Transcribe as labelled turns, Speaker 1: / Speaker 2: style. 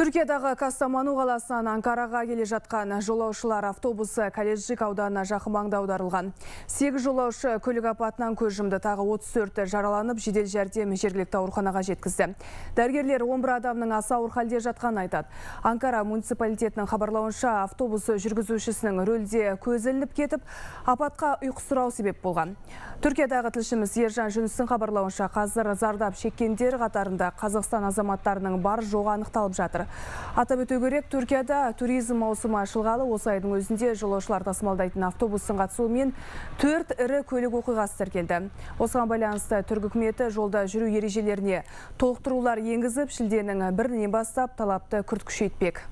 Speaker 1: Түркиядағы Кастаману қаласынан Анкараға келе жатқан жолаушылар автобусы Калежик ауданына жақын маңда аударылған. 8 жолаушы көлік апатынан көз жұмды, тағы 34 жараланып, жедел жәрдем жергілікті ауруханаға жеткізді. Дәрігерлер 11 адамның аса ауыр халде жатқанын айтады. Анкара муниципалитетінің хабарлауынша, автобусы жүргізушісінің рөлде көзі ілініп кетіп, апатқа ұйқысырау себеп болған. Түркиядағы тілшіміз Ержан Жүністің хабарлауынша, қазір зардап шеккендер қатарында Қазақстан азаматтарының бар жоғы анықталып жатыр. Атап өту керек, Түркияда туризм маусымы ашылғалы осы айдың өзінде жолаушылар тасымалдайтын автобустың қатысуымен 4 ірі көлік оқиғасы тіркелді. Осыған байланысты Түрік үкіметі жолда жүру ережелеріне толықтырулар енгізіп, шілденің 1-інен бастап талапты күрт күшейтпек.